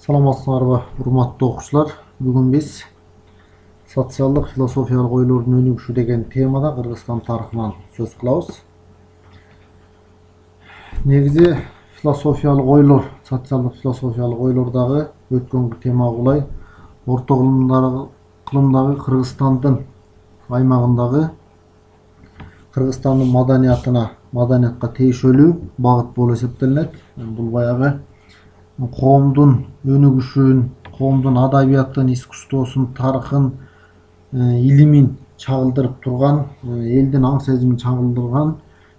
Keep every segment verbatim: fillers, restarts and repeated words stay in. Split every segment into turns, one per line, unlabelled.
Саламатсыңарбы, урматтуу окуучулар. Бүгүн биз социалдык философиялык ойлордун өнүгүшү деген темада Кыргызстан тарыхынан сөз кылабыз. Негизи философиялык ойлор, социалдык философиялык ойлордагы өткөнгү тема улай орто кылымдагы Кыргызстандын аймагындагы Кыргызстандын маданиятына, маданиятка тийишелүү багыт болуп эсептелинет. Бул баягы коомдун өнүгүшүн, коомдун адабиятын, искусствосун, тарыхын, илимин чагылдырып турган, элдин аң сезимин чагылдырган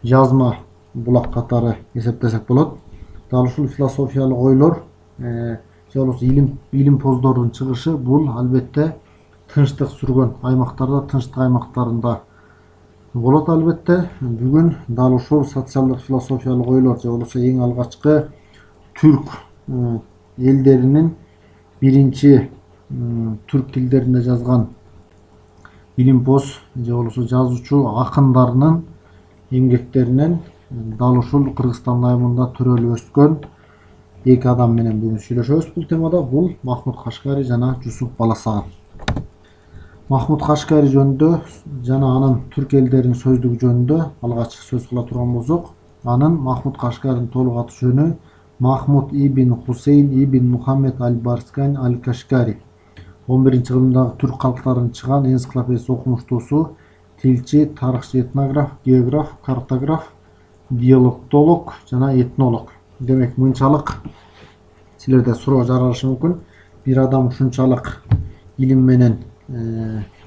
жазма булак катары эсептесек болот. Дал ушул философиялык ойлор же болбосо илим илимпоздордун чыгышы бул албетте тынчтык сүргөн аймактарда, тынчтык аймактарында болот албетте. Бүгүн дал ушул социалдык философиялык ойлор же болбосо эң алгачкы түрк элдеринин биринчи түрк тилдеринде жазган илимпоз же болбосо жазуучу акындарынын эмгектеринен дал ушул Кыргызстан айылында төрөлүп өскөн эки адам менен бүгүн сүйлөшөбүз бул темада. Бул Махмуд Кашкари жана Жусуп Баласаган. Махмуд Кашкари жөнүндө жана анын түрк элдеринин сөздүгү жөнүндө алгач сөз кыла турган болсок, анын Махмуд Кашкаринин толук аты жөнү Махмуд ибн Хусейн ибн Мухаммед аль-Барскайн аль-Кашкари. он биринчи кылымдагы түрк калктарынын чыган энциклопедиясы окумуштуусу, тилчи, тарыхчы, этнограф, географ, картограф, диалектолог жана этнолог. Демек, мынчалык силерде суроо жаралышы мүмкүн. Бир адам ушунчалык илим менен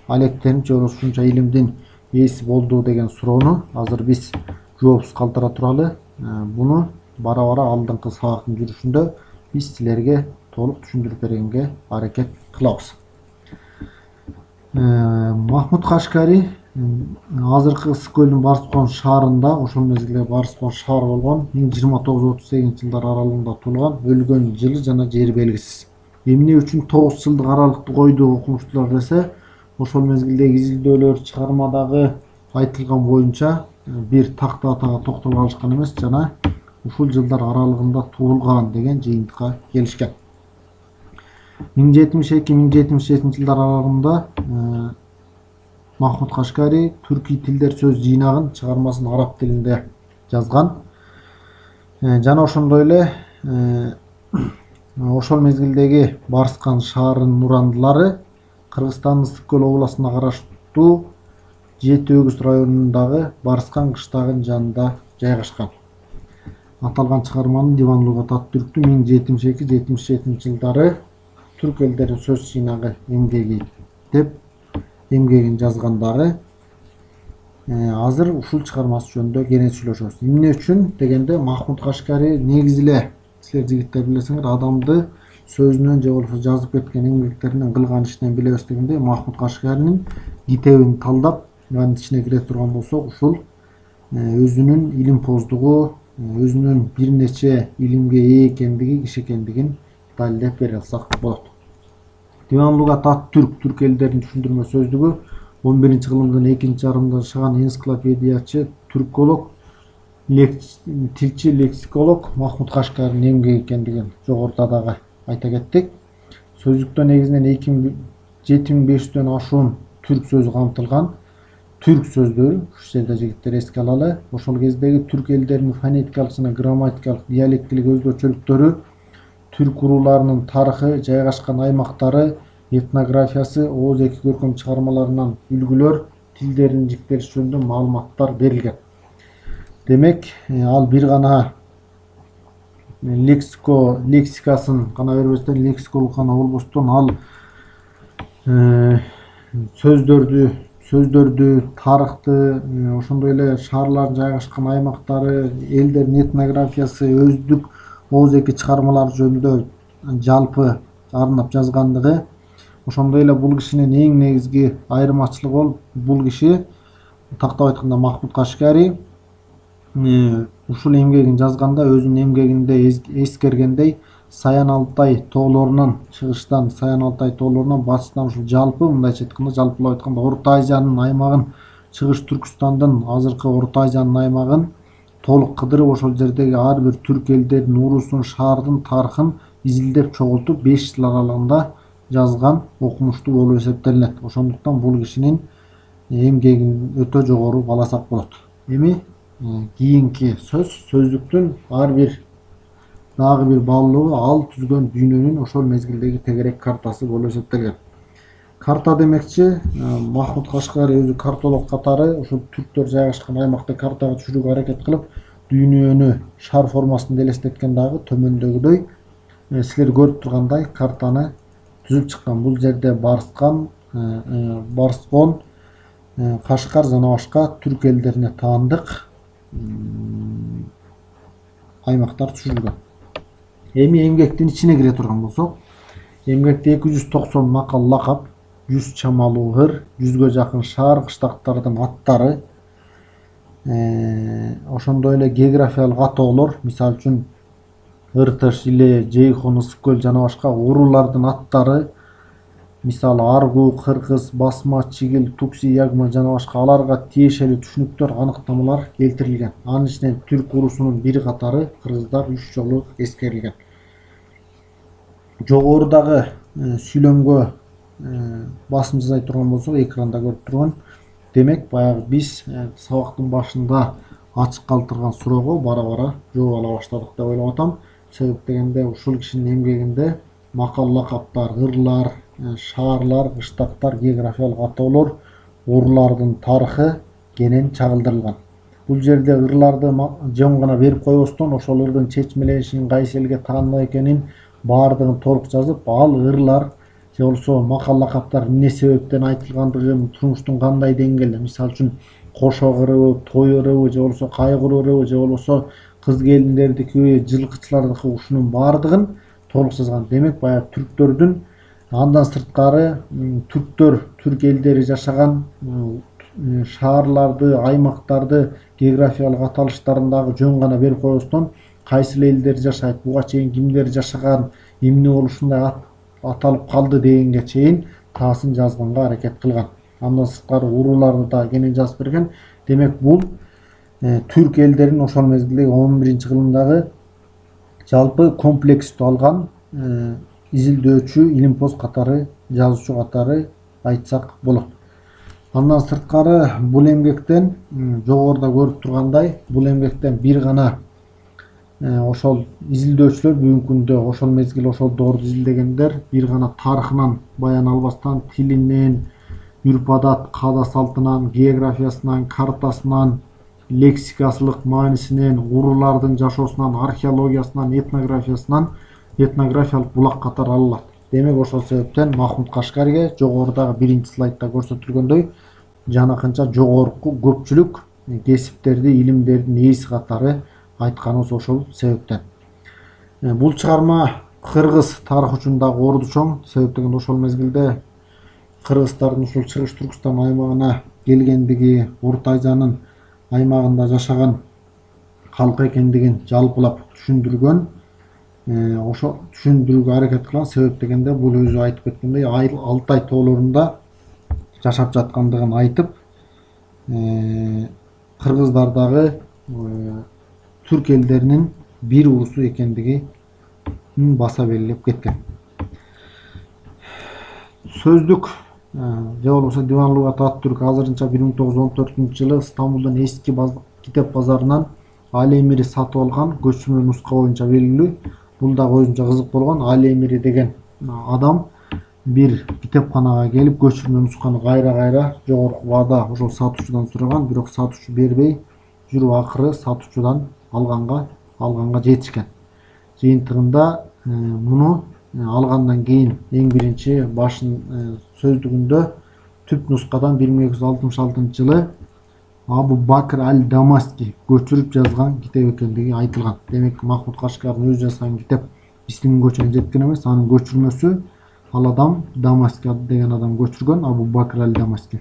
алектенип же болбосо ушунча илимдин ээси болду деген суроону азыр биз жоопсуз калтыра туралы. Буну бара-бара алдыңкы сабактын жүрүшүндө биз силерге толук түшүндүрүп бергенге аракет кылабыз. Махмуд Кашкари азыркы Ысык көлдүн Барскон шаарында, ошол мезгилде Барскон шаар болгон, миң жыйырма тогуз отуз сегизинчи жылдар аралыгында туулган, өлгөн жылы жана жери белгисиз. Эмне үчүн тогуз жылдык аралыкты койду окумуштуулар десе, ошол мезгилдеги изилдөөлөр, чыгармадагы айтылган боюнча бир такты атага токтолуп калышкан эмес, жана ушул жылдар аралыгында туулган деген жыйынтыкка келишкен. миң жетимиш эки миң жетимиш жетинчи жылдар аралыгында Махмуд Кашкари түркий тилдер сөз жыйнагын чыгармасын араб тилинде жазган. Жана ошондой эле ошол мезгилдеги Барскан шаарынын урандылары Кыргызстандын Ысык көл областына караштуу Жети Өгүз районундагы Барскан кыштагынын жанында жайгашкан. Аталган чыгарманын Диван Лугат ат-Түрктү миң жетимиш эки жетимиш жетинчи жылдары түрк элдеринин сөз жыйнагы эмгеги деп эмгегин жазгандары. Азыр ушул чыгармасы жөнүндө кенен сүйлөшөбүз. Эмне үчүн дегенде, Махмуд Кашкари негизи эле силер жигиттер билесиңер, адамды сөзүнөн же болбосо жазып кеткен эмгектеринен, кылган ишинен билебиз дегенде, Махмуд Кашкаринин китебин талдап анын ичине кире турган болсок, ушул өзүнүн илимпоздугу, өзүнүн бир нече илимге ээ экендиги, киши экендигин далилдеп бере алсак болот. Диван Лугат ат-Түрк, түрк элдеринин түшүндүрмө сөздүгү он биринчи кылымдын экинчи жарымында жашаган энциклопедиячы, түрколог, тилчи, лексиколог Махмуд Кашкаринин эмгеги экендигин жогоруда дагы айта кеттик. Сөздүктө негизинен жети миң беш жүздөн ашуун түрк сөзү камтылган. Түрк сөздөрү, ушу жерде жигиттер эске алалы, ошол кездеги түрк элдеринин фонетикалык жана грамматикалык, диалектилик өзгөчөлүктөрү, түрк урууларынын тарыхы, жайгашкан аймактары, этнографиясы, ооз эки көркөм чыгармаларынан үлгүлөр, тилдеринин жиктелиши жөнүндө маалыматтар берилген. Демек, ал бир гана лексико лексикасын гана бербестен, лексиколог гана болбостон, ал сөздөрдү сөздөрдү, тарыхты, ошондой эле шаарлардын жайгашкан аймактары, элдердин этнографиясы, өздүк ооз эки чыгармалар жөнүндө жалпы арнап жазгандыгы, ошондой эле бул кишинин эң негизги айырмачылыгы болуп, бул киши тактап айтканда Махмуд Кашкари ушул эмгегин жазганда өзүнүн эмгегинде эскергендей, Саян Алтай тоолорунан чыгыштан, Саян Алтай тоолорунан батыштан ушул жалпы, мындайча айтканда, жалпылап айтканда, Орто Азиянын аймагын, чыгыш Түркстандын, азыркы Орто Азиянын аймагын толук кыдырып ошол жердеги ар бир түрк элдерин, урусун, шаардын тарыхын изилдеп чогултуп беш жыл аралыгында жазган окумуштуу болуп эсептелинет. Ошондуктан бул кишинин эмгегин өтө жогору бааласак болот. Эми кийинки сөз сөздүктүн ар бир дагы бир баалуулугу ал түзгөн дүйнөнүн ошол мезгилдеги тегерек картасы болуп эсептелген. Карта демекчи Махмуд Кашкари өзү картолог катары ошол түрктөр жайгашкан аймакты картага түшүрүүгө аракет кылып, дүйнөнү шар формасында элестеткен дагы төмөндөгүдөй силер көрүп тургандай картаны түзүп чыккан. Бул жерде Барскан, Барскон, Кашкар жана башка түрк элдерине таандык аймактар түшүрүлгөн. Эми эмгектин ичине кире турган болсок, эмгекте эки жүз токсон макал лакап, жүз чамалуу ыр, жүзгө жакын шаар кыштактардын аттары, ошондой эле географиялык атоолор, мисалы үчүн Ыртыш, Иле, Жейхон, Ысык көл жана башка уруулардын аттары, мисалы Аргу, Кыргыз, Басма, Чигил, Тукси, Ягма жана башка аларга тиешелүү түшүнүктөр, аныктамалар келтирилген. Анын ичинен түрк урусунун бир катары кыргыздар үч жолу эскерилген. Жогорудагы сүйлөмгө басым жасай турган болсок, экранда көрүп турган. Демек, баягы биз сабактын башында ачык калтырган суроого бара-бара жооп ала баштадык деп ойлоп атам. Себеп дегенде ушул кишинин эмгегинде макал лакаптар, ырлар, шаарлар, кыштактар, географиялык атоолор, уруулардын тарыхы кенен чагылдырылган. Бул жерде ырларды жөн гана берип койбостон, ошол ырдын чечмеленишин, кайсы элге таандык экенин баардыгын толук жазып, ал ырлар же болбосо макал лакаптар эмне себептен айтылгандыгын, турмуштун кандай деңгээлде, мисалы үчүн кошок ырыбы, той ырыбы же болбосо кайгыруу ырыбы же болбосо кыз келиндердики, жылкычылардыкы, ушунун баардыгын толук жазган. Демек, баягы түрктөрдүн андан сырткары түрктөр, түрк элдери жашаган шаарларды, аймактарды, географиялык аталыштарын дагы жөн гана берип койбостон, кайсы элдер жашайт, буга чейин кимдер жашаган, эмне болуп ушундай аталып калды дегенге чейин таасын жазганга аракет кылган. Андан сырткары урууларды да кенен жазып берген. Демек, бул түрк элдерин ошол мезгилдеги он биринчи кылымдагы жалпы комплекстүү алган изилдөөчү, илимпоз катары, жазуучу катары айтсак болот. Андан сырткары бул эмгектен жогоруда көрүп тургандай, бул эмгектен бир гана ошол изилдөөчүлөр бүгүнкү күндө ошол мезгил, ошол доорду изилдегендер бир гана тарыхынан баян албастан, тилинен, үрп адат, каада салтынан, географиясынан, картасынан, лексикасылык маанисинен, уруулардын жашоосунан, археологиясынан, этнографиясынан этнографиялык булак катары алынат. Демек, ошол себептен Махмуд Кашкариге жогорудагы биринчи слайдда көрсөтүлгөндөй жанакынча жогорку көпчүлүк кесиптерди, илимдердин ээси катары айтканыбыз ошол себептен. Бул чыгарма кыргыз тарыхы үчүн дагы орду чоң. Себеп дегенде ошол мезгилде кыргыздардын ушул Чыгыш Түркстан аймагына келгендиги, Орто Азиянын аймагында жашаган калк экендигин жалпылап түшүндүргөн, ошо түшүндүрүүгө аракет кылган. Себеп дегенде бул өзү айтып кеткендей Алтай тоолорунда жашап жаткандыгын айтып, кыргыздар дагы түрк элдеринин бир урусу экендигин баса белгилеп кеткен. Сөздүк же болбосо Диван Лугат Ат-Түрк азырынча бир миң тогуз жүз он төртүнчү жылы Стамбулдун эски китеп базарынан Али Эмири сатып алган көчүрмө нуска боюнча белгилүү. Бул дагы өзүнчө кызык болгон. Али Эмири деген адам бир китепканага келип көчүрмө нусканы кайра-кайра жогорку баада ошол сатуучудан сураган, бирок сатуучу бербей жүрүп акыры сатуучудан алганга алганга жетишкен. Жыйынтыгында муну алгандан кийин эң биринчи башын сөздүгүндө түп нускадан бир миң эки жүз алтымыш алтынчы жылы Абу Бакр аль-Дамаски көчүрүп жазган китеп экендиги айтылган. Демек, Махмуд Кашкардын өзү жазган китеп биздин көчүнө жеткен эмес, анын көчүрмөсү ал адам Дамаски деген адам көчүргөн, Абу Бакр аль-Дамаски.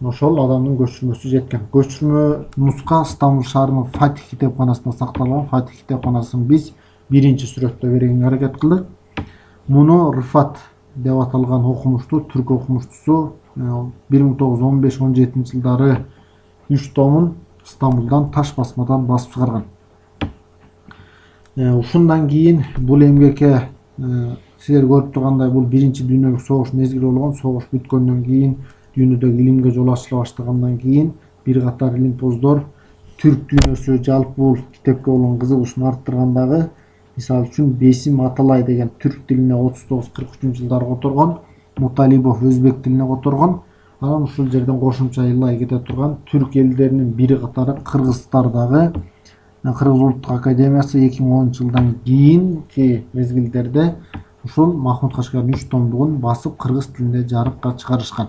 Ошол адамдын көчүрмөсү жеткен. Көчүрмө нуска Стамбул шаарынын Фатих китепканасында сакталган. Фатих китепканасын биз биринчи сүрөттө бергенге аракет кылдык. Муну Рыфат деп аталган окумуштуу, түрк окумуштусу бир миң тогуз жүз он беш он жетинчи жылдары үч томун Стамбулдан таш басмадан басып чыгарган. Ушундан кийин бул эмгекке силер көрүп тургандай бул биринчи дүйнөлүк согуш мезгили болгон. Согуш бүткөндөн кийин дүйнөдөгү илимге жол ачыла баштагандан кийин бир катар илимпоздор түрк дүйнөсү жалпы бул китепке болгон кызыгуусун арттыргандагы, мисалы үчүн Бесим Аталай деген түрк тилине отуз тогуз кырк үчүнчү жылдары которгон, Муталибов өзбек тилине которгон. Анан ушул жерден кошумча ылай кете турган түрк элдеринин бир катары кыргызстардагы Кыргыз улуттук академиясы эки миң онунчу жылдан кийинки мезгилдерде ушул Махмуд Кашкардын үч томдугун басып кыргыз тилинде жарыкка чыгарышкан.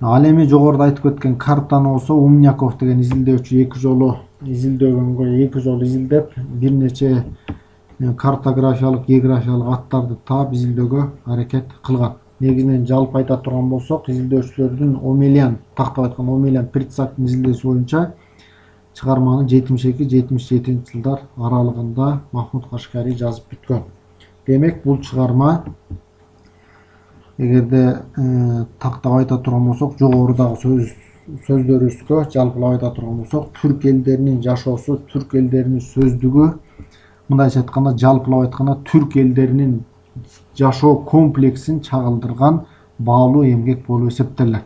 Ал эми жогоруда айтып кеткен картаны болсо Умняков деген изилдөөчү эки жолу изилдөгөнгө эки жолу изилдеп бир нече картографиялык, географиялык аттарды таап изилдөөгө аракет кылган. Негизинен жалпы айта турган болсок, изилдөөчүлөрдүн Омелян, тактап айтканда Омелян Прицактын изилдөөсү боюнча чыгарманы жетимиш эки жетимиш жетинчи жылдар аралыгында Махмуд Кашкари жазып бүткөн. Демек бул чыгарма, эгерде тактап айта турган болсок, жогорудагы сөз сөздөрүбүзгө жалпылап айта турган болсок, түрк элдеринин жашоосу, түрк элдеринин сөздүгү, мындайча айтканда жалпылап айтканда түрк элдеринин жашоо комплексин чагылдырган баалуу эмгек болуп эсептелет.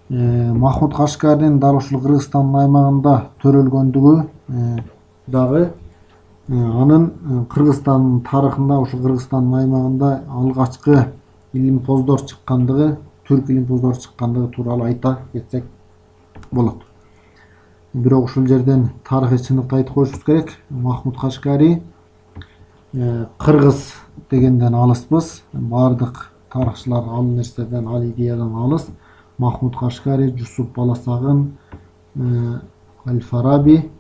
Махмуд Кашкаринин дал ушул Кыргызстандын аймагында төрөлгөндүгү дагы анын Кыргызстандын тарыхында, ушул Кыргызстандын аймагында алгачкы илимпоздор чыккандыгы, түрк илимпоздору чыккандыгы тууралуу айта кетсек болот. Бирок ушул жерден тарыхый чындыкты айтып коюшубуз керек. Махмуд Кашкари кыргыз дегенден алыспыз. Бардык тарыхчылар ал нерседен, ал идеядан алыс. Махмуд Кашкари, Жусуп Баласагын, Аль-Фараби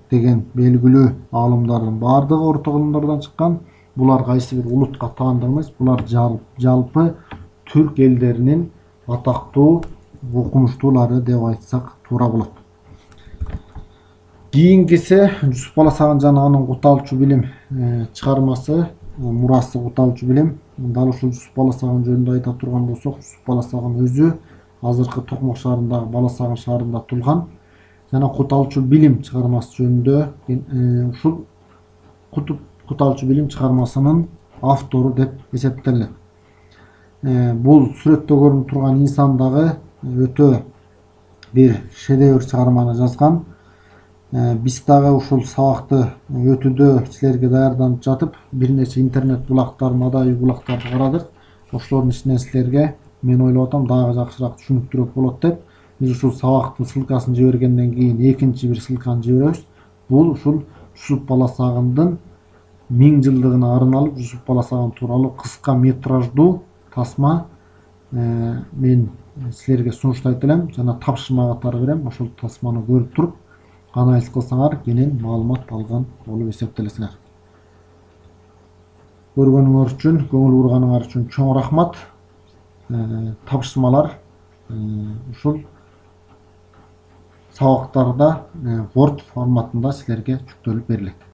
деген белгилүү аалымдардын бардыгы орток илимдерден чыккан. Булар кайсы бир улутка таандык эмес, булар жалпы түрк элдеринин атактуу окумуштуулары деп айтсак туура болот. Кийинкиси Жусуп Баласагын жана анын Куталчу билим чыгармасы, мурасы Куталчу билим. Дал ушул Жусуп Баласагын жөнүндө айта турган болсок, Жусуп Баласагын өзү азыркы Токмок шаарындагы Баласагын шаарында туулган. Жана Куталчу билим чыгармасы жөнүндө ушул Куталчу билим чыгармасынын автору деп эсептелет. Бул сүрөттө көрүнүп турган инсан дагы өтө бир шедевр чыгарманы жазган. Биз дагы ушул сабакты өтүүдө силерге даярданып жатып, бир нече интернет булактарын, адабий булактарды карадык. Ошолордун ичинен силерге мен ойлоп атам дагы жакшыраак түшүнүктүүрөөк болот деп биз ушул сабактын ссылкасын жибергенден кийин экинчи бир ссылканы жиберебиз. Бул ушул Жусуп Баласагындын миң жылдыгына арналып Жусуп Баласагын тууралуу кыска метраждуу тасма мен силерге сунуштайт элем жана тапшырма катары берем. Ошол тасманы көрүп туруп анализ кылсаңар кенен маалымат алган болуп эсептелесиңер. Көргөнүңөр үчүн, көңүл бурганыңар үчүн чоң рахмат. Тапшырмалар ушул сабактарда Word форматында силерге жүктөлүп берилет.